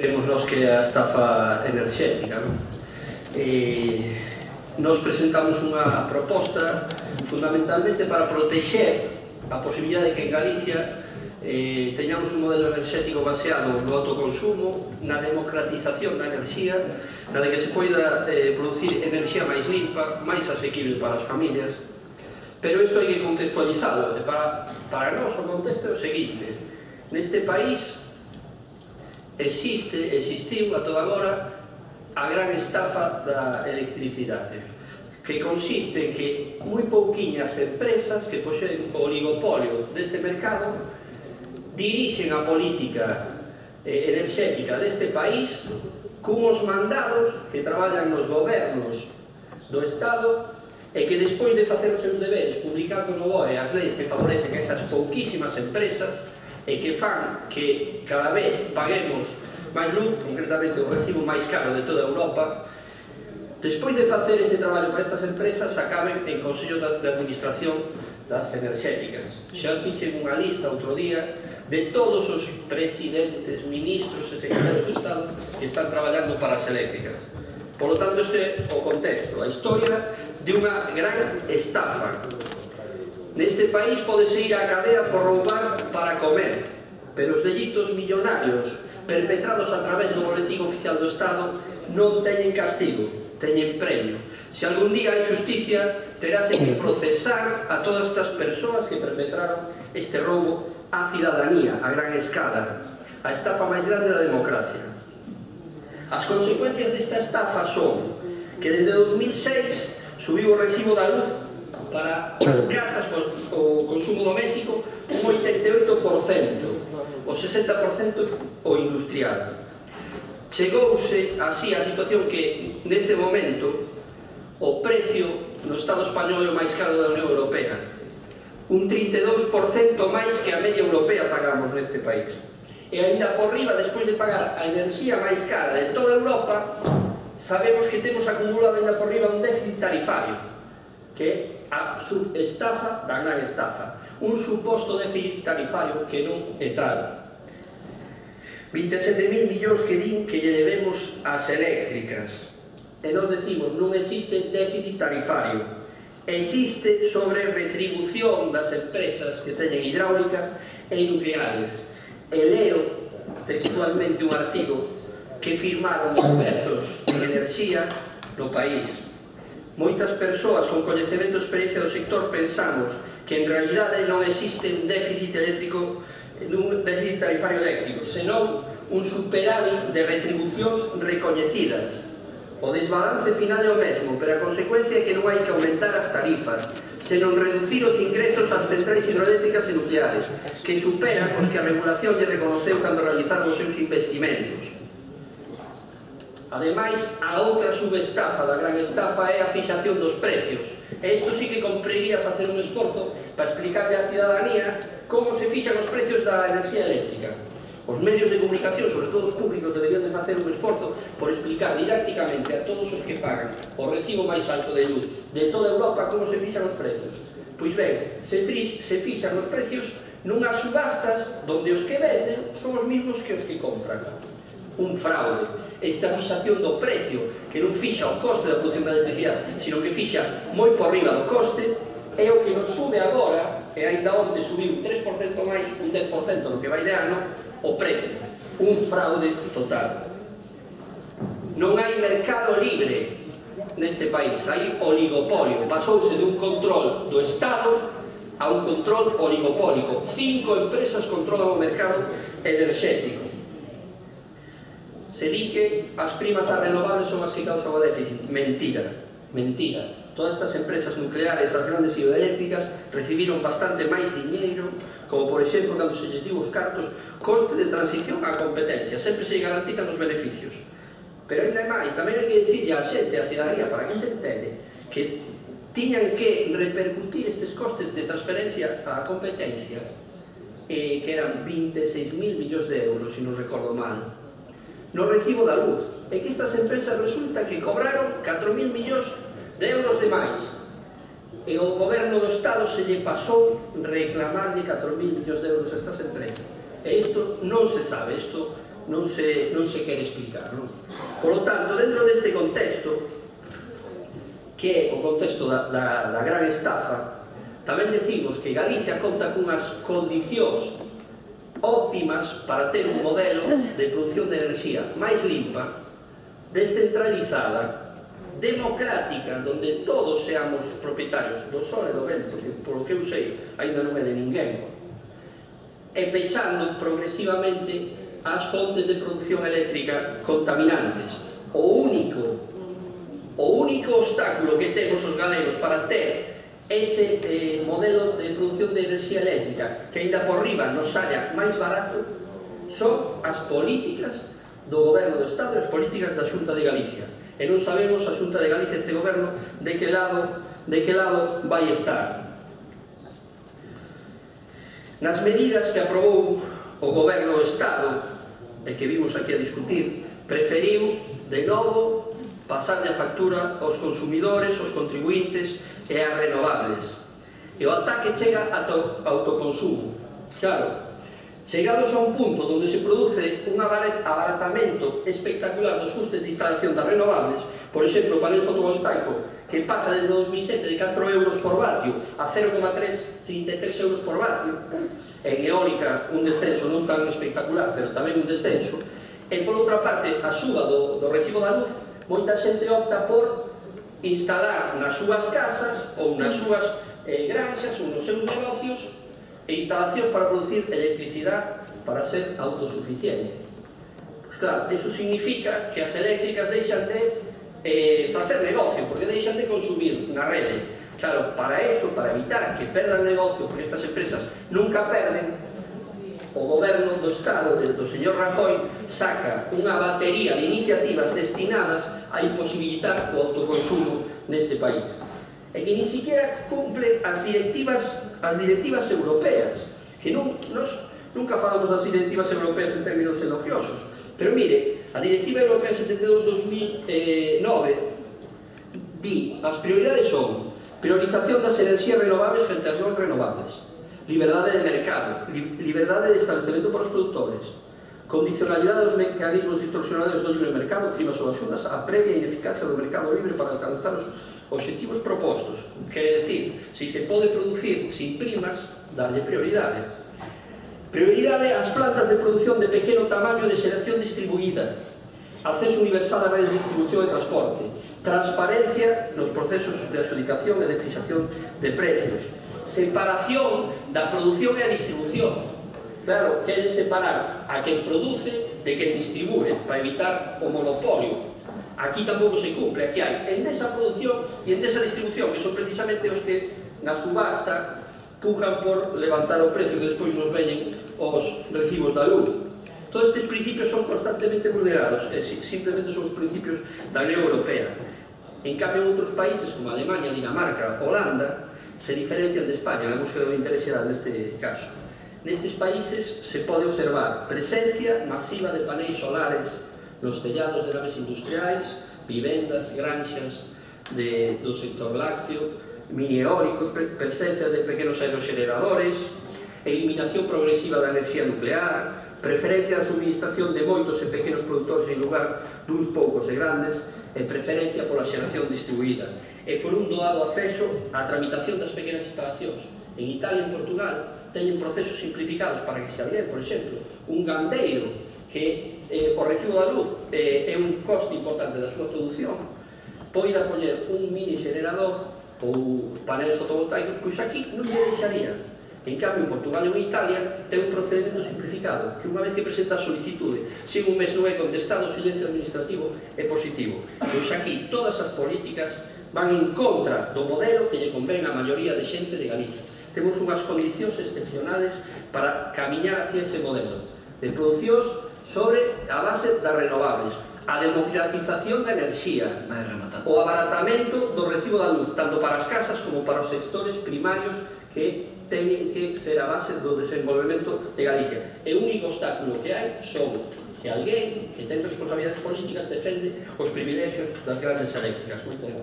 Creemos nós que é a estafa enerxética. Nos presentamos unha proposta fundamentalmente para protexer a posibilidade de que en Galicia teñamos un modelo enerxético baseado no autoconsumo, na democratización da enerxía, na de que se poida producir enerxía máis limpa, máis asequible para as familias. Pero isto hai que contextualizado. Para nós o contexto é o seguinte: neste país existiu a toda agora a gran estafa da electricidade, que consiste en que moi pouquiñas empresas que poseen o oligopolio deste mercado dirixen a política enerxética deste país cunhos mandados que traballan nos gobernos do Estado e que despois de facer os seus deberes publicando no BOE as leis que favorecen esas pouquísimas empresas e que fan que cada vez paguemos máis luz, concretamente o recibo máis caro de toda Europa, despois de facer ese traballo para estas empresas acaben en Consello de Administración das Enerxéticas. Xa fixen unha lista outro día de todos os presidentes, ministros e secretarios do Estado que están traballando para as eléctricas. Por lo tanto, este é o contexto, a historia de unha gran estafa. Neste país podese ir á cadea por roubar para comer, pero os delitos millonarios perpetrados a través do boletín oficial do Estado non teñen castigo, teñen premio. Se algún día hai justicia, terase que procesar a todas estas persoas que perpetraron este roubo á cidadanía, a gran escala, a estafa máis grande da democracia. As consecuencias desta estafa son que desde 2006 subiu o recibo da luz para casas o consumo doméstico un 88%, o 60% o industrial. Chegouse así a situación que neste momento o precio no Estado español é o máis caro da Unión Europea, un 32% máis que a media europea pagamos neste país. E ainda por riba, despois de pagar a enerxía máis cara de toda Europa, sabemos que temos acumulado ainda por riba un déficit tarifario, que é a subestafa da gran estafa, un suposto déficit tarifario que non é tal. 27.000 millóns que din que lle debemos ás eléctricas, e nos decimos non existe déficit tarifario, existe sobre retribución das empresas que teñen hidráulicas e nucleares. E leo textualmente un artigo que firmaron expertos en enerxía no país. Moitas persoas con coñecemento e experiencia do sector pensamos que en realidade non existe un déficit eléctrico, un déficit tarifario eléctrico, senón un superávit de retribucións recoñecidas. O desbalance final é o mesmo, pero a consecuencia é que non hai que aumentar as tarifas, senón reducir os ingresos ás centrais hidroeléctricas e nucleares, que superan os que a regulación lle reconoceu cando realizaron os seus investimentos. Ademais, a outra subestafa da gran estafa é a fixación dos precios. E isto sí que comprería facer un esforzo para explicarle á cidadanía como se fixan os precios da enerxía eléctrica. Os medios de comunicación, sobre todo os públicos, deberían de facer un esforzo por explicar didácticamente a todos os que pagan o recibo máis alto de luz de toda Europa como se fixan os precios. Pois ben, se fixan os precios nunhas subastas onde os que venden son os mesmos que os que compran. Un fraude. Esta fixación do precio, que non fixa o coste da produción da electricidade, sino que fixa moi por riba do coste, é o que nos sube agora, e ainda onte subiu un 3% máis, un 10% no que vai de ano, o precio. Un fraude total. Non hai mercado libre neste país, hai oligopolio. Pasouse de un control do Estado a un control oligopólico. 5 empresas controlan o mercado enerxético. Se di que as primas a renovables son as que causan o déficit. Mentira, mentira. Todas estas empresas nucleares, as grandes hidroeléctricas, recibiron bastante máis diñeiro, como por exemplo, cando se lles diu os cartos, coste de transición á competencia. Sempre se garantizan os beneficios. Pero ainda máis, tamén hai que dicirle á xente, á cidadanía, para que se entende, que tiñan que repercutir estes costes de transferencia á competencia, que eran 26.000 millóns de euros, se non recordo mal, no recibo da luz. E que estas empresas resulta que cobraron 4.000 millóns de euros de máis. E o goberno do Estado se lle pasou reclamarlle 4.000 millóns de euros a estas empresas. E isto non se sabe, isto non se quere explicar, non? Por lo tanto, dentro deste contexto, que é o contexto da gran estafa, tamén decimos que Galicia conta cunhas condicións óptimas para ter un modelo de produción de enerxía máis limpa, descentralizada, democrática, donde todos seamos propietarios do sol e do vento, que polo que eu sei ainda non é de ninguén, e pechando progresivamente as fontes de produción eléctrica contaminantes. O único obstáculo que temos os galegos para ter ese modelo de produción de enerxía eléctrica que ainda por riba nos saia máis barato son as políticas do Goberno do Estado e as políticas da Xunta de Galicia. E non sabemos a Xunta de Galicia, este Goberno, de que lado vai estar. Nas medidas que aprobou o Goberno do Estado e que vimos aquí a discutir, preferiu de novo pasarle a factura aos consumidores, aos contribuintes e ás renovables. E o ataque chega ata o autoconsumo. Claro, chegados a un punto onde se produce un abaratamento espectacular dos custes de instalación das renovables, por exemplo, o panel fotovoltaico que pasa desde 2007 de 4 euros por vatio a 0,33 euros por vatio, en eólica un descenso non tan espectacular, pero tamén un descenso, e por outra parte a suba do recibo da luz, moita xente opta por instalar nas súas casas ou nas súas granxas ou nos seus negocios instalacións para producir electricidade para ser autosuficiente. Pois claro, eso significa que as eléctricas deixan de facer negocio, porque deixan de consumir na rede. Claro, para eso, para evitar que perdan negocio, porque estas empresas nunca perden, o Goberno do Estado, do señor Rajoy, saca unha batería de iniciativas destinadas a imposibilitar o autoconsumo neste país. E que ni siquiera cumple as directivas europeas, que nós nunca falamos das directivas europeas en términos elogiosos, pero mire, a Directiva Europea 72-2009 di, as prioridades son priorización das enerxías renovables frente ás non renovables, liberdade de mercado, liberdade de establecemento para os produtores, condicionalidade dos mecanismos distorsionadores do libre mercado, primas ou axudas, a previa ineficacia do mercado libre para alcanzar os obxectivos propostos. Quere decir, se se pode producir sin primas, darlle prioridade. Prioridade ás plantas de produción de pequeno tamaño de xeración distribuída, acceso universal a redes de distribución e transporte, transparencia nos procesos de adxudicación e de fixación de precios, separación da produción e a distribución. Claro, queren separar a quen produce de quen distribúe para evitar o monopolio. Aquí tampouco se cumple, aquí hai Endesa produción e Endesa distribución, que son precisamente os que na subasta pujan por levantar o precio que despois nos veñen os recibos da luz. Todos estes principios son constantemente vulnerados, e simplemente son os principios da Unión Europea. En cambio, en outros países como Alemania, Dinamarca, Holanda, se diferencian de España na búsqueda do interés xeral neste caso. Nestes países se pode observar presencia masiva de paneis solares nos tellados de naves industriais, vivendas, granxas do sector lácteo, mini eólicos, presencia de pequenos aeroxeneradores, eliminación progresiva da enerxía nuclear, preferencia da suministración de moitos e pequenos produtores en lugar duns poucos e grandes, e preferencia pola xeración distribuída, e por un doado acceso á tramitación das pequenas instalacións. En Italia e en Portugal teñen procesos simplificados para que se alguén, por exemplo, un gandeiro que o recibo da luz é un coste importante da súa produción, poida poñer un mini xenerador ou paneles fotovoltaicos, pois aquí non lle deixaría. En cambio, en Portugal e en Italia ten un procedimento simplificado, que unha vez que presenta a solicitude, se un mes non é contestado, o silencio administrativo é positivo. Pois aquí todas as políticas van en contra do modelo que lle convén a maioría de xente de Galicia. Temos unhas condicións excepcionales para camiñar hacia ese modelo de producións sobre a base das renovables, a democratización da enerxía, o abaratamento do recibo da luz, tanto para as casas como para os sectores primarios que teñen que ser a base do desenvolvemento de Galicia. E o único obstáculo que hai son que alguén que ten responsabilidades políticas defende os privilexios das grandes eléctricas. Moito ben.